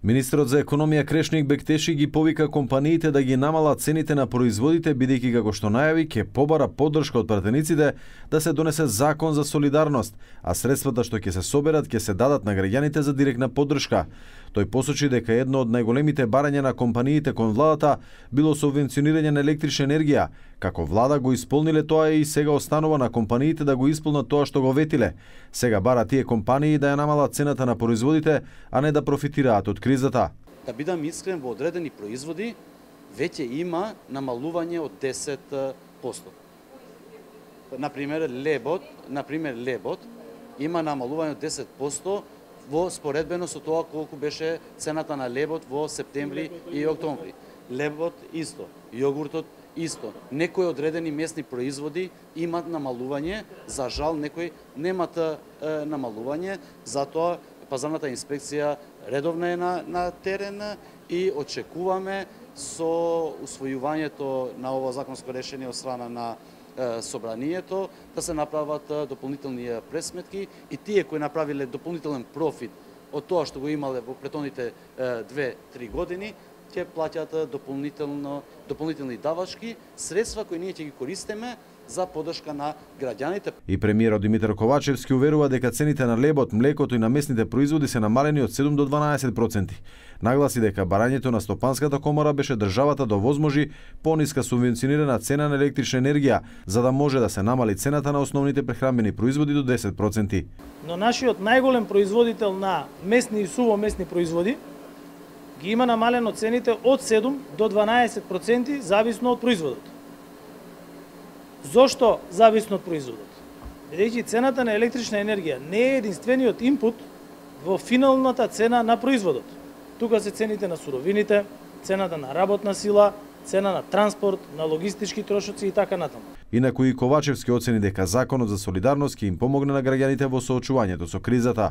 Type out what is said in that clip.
Министрот за економија Крешник Бектеши ги повика компаниите да ги намалат цените на производите, бидејќи како што најави ќе побара поддршка од пратениците да се донесе закон за солидарност, а средствата што ќе се соберат ќе се дадат на граѓаните за директна поддршка. Тој посочи дека едно од најголемите барања на компаниите кон владата било субвенционирање на електрична енергија. Како влада го исполниле тоа и сега останува на компаниите да го исполнат тоа што го ветиле. Сега бара тие компании да ја намалат цената на производите, а не да профитираат од кризата. Да бидам искрен, во одредени производи веќе има намалување од 10%. Например, лебот има намалување од 10% во споредбено со тоа колку беше цената на лебот во септември и октомври. Лебот исто, јогуртот исто. Некои одредени месни производи имат намалување, за жал некои немат намалување, затоа пазарната инспекција редовно е на терен и очекуваме со усвојувањето на ова законско решение од страна на собранието да се направат дополнителни пресметки и тие кои направиле дополнителен профит од тоа што го имале во претходните 2-3 години ќе плаќаат дополнителни давачки средства кои ние ќе ги користиме за поддршка на граѓаните. И премиерот Димитар Ковачевски уверува дека цените на лебот, млекото и на месните производи се намалени од 7 до 12%. Нагласи дека барањето на Стопанската комора беше државата да овозможи пониска субвенционирана цена на електрична енергија, за да може да се намали цената на основните прехранбени производи до 10%. Но нашиот најголем производител на месни и сувомесни производи ги има намалено цените од 7 до 12% зависно од производот. Зошто зависно од производот? Бидејќи цената на електрична енергија не е единствениот инпут во финалната цена на производот. Тука се цените на суровините, цената на работна сила, цена на транспорт, на логистички трошоци и така натаму. Инаку и Ковачевски оцени дека законот за солидарност ќе им помогне на граѓаните во соочувањето со кризата.